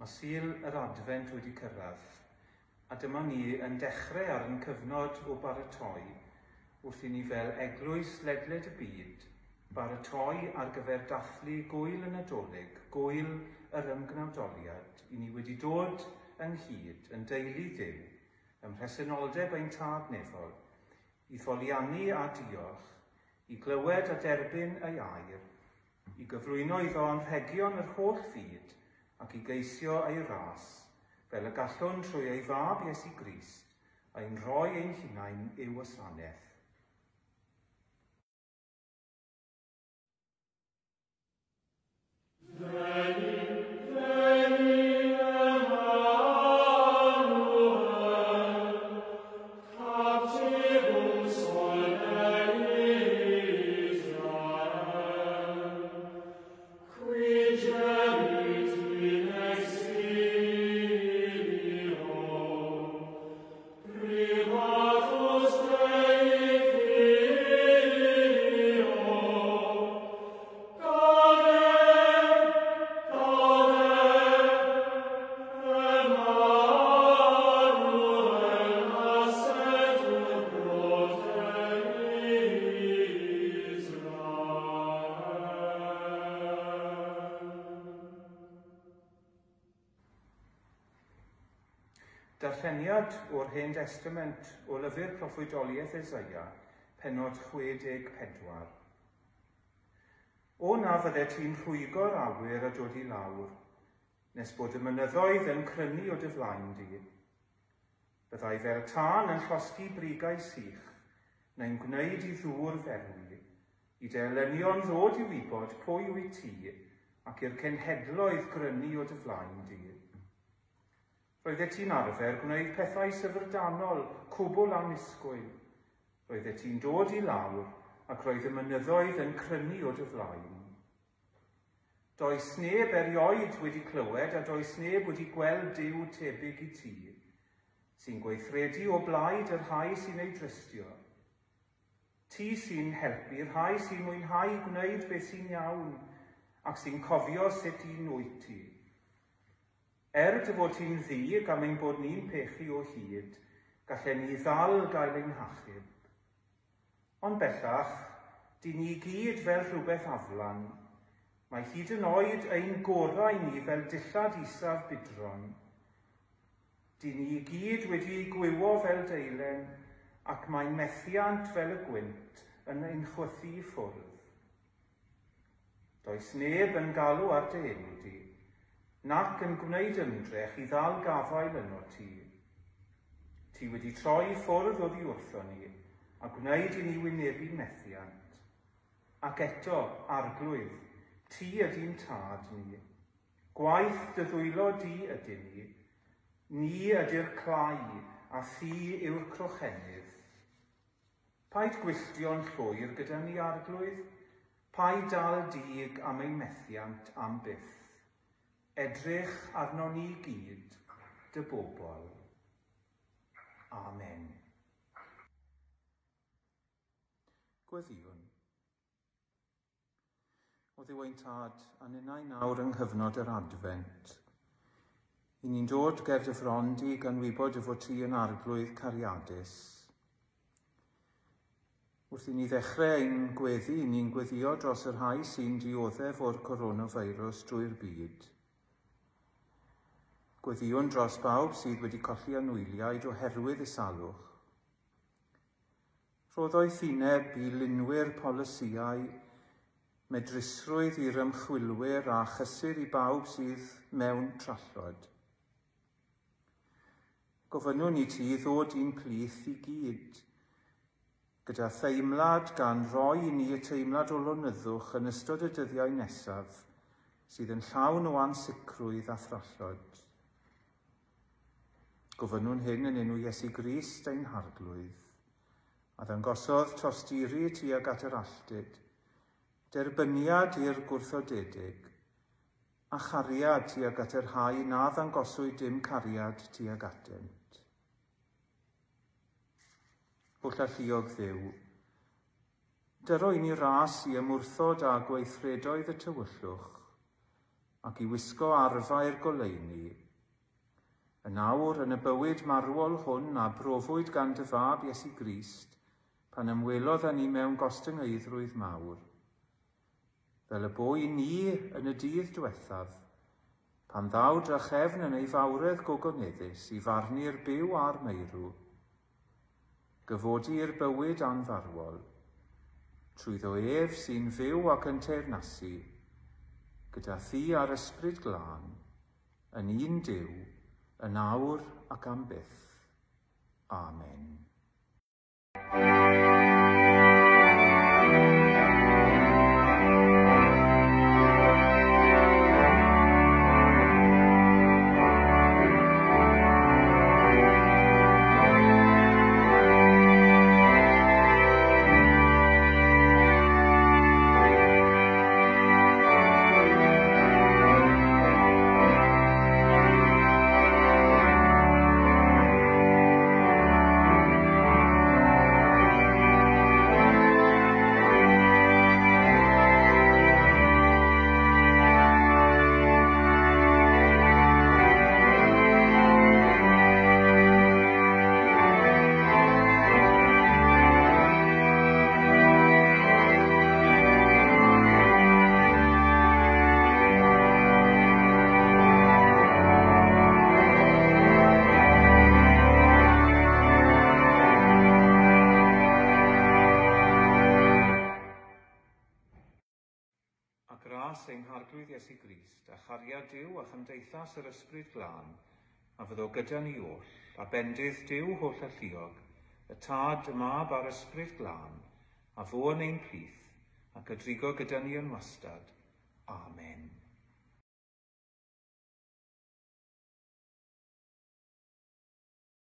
Mae Sul yr Adfent wedi cyrraedd, a dyma ni yn dechrau ar ein cyfnod o baratoi wrth i ni fel eglwys ledled y byd baratoi ar gyfer dathlu Gŵyl y Nadolig, Gŵyl yr Ymgnawdoliad, i ni wedi dod ynghyd yn deulu Duw, ym mhresenoldeb ein Tad Nefol, i foliannu a diolch, i glywed a derbyn ei air, i gyflwyno iddo anrhegion yr holl fyd ac i geisio ei ras, fel y gallwn trwy ei Fab Iesu Grist ein rhoi ein hunain i'w wasanaeth. Darlleniad o'r Hen Destament o lyfr proffwydoliaeth Eseia, pennod 64. O na fyddet ti'n rhwygo'r awyr a dod i lawr, nes bod y mynyddoedd yn crynu o dy flaen di. Byddai fel tân yn llosgi brigau sych, neu'n gwneud i ddŵr ferwi, i dy elynion ddod i wybod pwy wyt ti, ac i'r cenhedloedd grynu o dy flaen di. Roeddet ti'n arfer gwneud pethau syfrdanol, cwbl annisgwyl. Roeddet ti'n dod i lawr, ac roedd y mynyddoedd yn crynu o dy flaen. Does neb erioed wedi clywed a does neb wedi gweld Duw tebyg i ti, sy'n gweithredu o blaid y rhai sy'n ei drystio. Ti sy'n helpu rhai sy'n mwynhau gwneud beth sy'n iawn ac sy'n cofio sut un wyt ti. Er dy fod ti'n ddig am ein bod ni'n pechu o hyd, gallen ni ddal gael ein hachub. Ond bellach, dyn ni i gyd fel rhywbeth aflan. Mae hyd yn oed ein gorau ni fel dillad isaf budron. Dyn ni i gyd wedi gwywo fel deilen, ac mae methiant fel y gwynt yn ein chwythu i ffwrdd. Does neb yn galw ar dy enw di, nac yn gwneud ymdrech i ddal gafael ynot ti. Ti wedi troi i ffwrdd oddi wrthon ni, a gwneud i ni wynebu methiant. Ac eto, Arglwydd, ti ydy'n tad ni. Gwaith dy ddwylo di ydyn ni. Ni ydy'r clai, a thi yw'r crochenydd. Paid gwylltio'n llwyr gyda ni, Arglwydd, paid dal dig am ein methiant am byth. Edrych arnon ni gyd, dy bobl. Amen. Gweddïwn. O Dduw ein Tad, a ninnau nawr yng nghyfnod yr Adfent. I ni'n dod ger dy fron di gan wybod dy fod ti yn arglwydd cariadus. Wrth i ni ddechrau ein gweddi, ni'n gweddio dros y rhai sy'n dioddef o'r coronavirus drwy'r byd. Gweddïwn dros bawb sydd wedi colli anwyliaid oherwydd y salwch. Rho ddoethineb i lunwyr polisïau, medrusrwydd i'r ymchwilwyr a chysur i bawb sydd mewn trallod. Gofynnwn i ti ddod i'n plith i gyd, gyda theimlad gan roi i ni y teimlad o lonyddwch yn ystod y dyddiau nesaf sydd yn llawn o ansicrwydd a thrallod. Gofynnwn hyn yn enw Iesu Grist ein Harglwydd, a ddangosodd tosturi tuag at yr alltud, derbyniad i'r gwrthodedig, a chariad tuag at y rhai na ddangoswyd dim cariad tuag atynt. Holl alluog Dduw, dyro i ni ras i ymwrthod â gweithredoedd y tywyllwch, ac i wisgo arfau'r goleuni. Yn awr, yn y bywyd marwol hwn a brofwyd gan dy fab Iesu Grist, pan ymwelodd â ni mewn gostyngeiddrwydd mawr. Fel y bo i ni yn y dydd diwethaf, pan ddaw drachefn yn ei fawredd gogoneddus i farnu'r byw a'r meirw, gyfodi i'r bywyd anfarwol, trwyddo ef sy'n fyw ac yn teyrnasu, gyda thi a'r Ysbryd Glân, yn un Duw, yn awr ac am byth. Amen. Gras ein Harglwydd Iesu Grist, a chariad Duw a chymdeithas yr Ysbryd Glân, a fyddo gyda ni oll, a bendith Duw holl alluog, y Tad, y Mab a'r Ysbryd Glân, a fo yn ein plith, ac y drigo gyda ni yn wastad. Amen.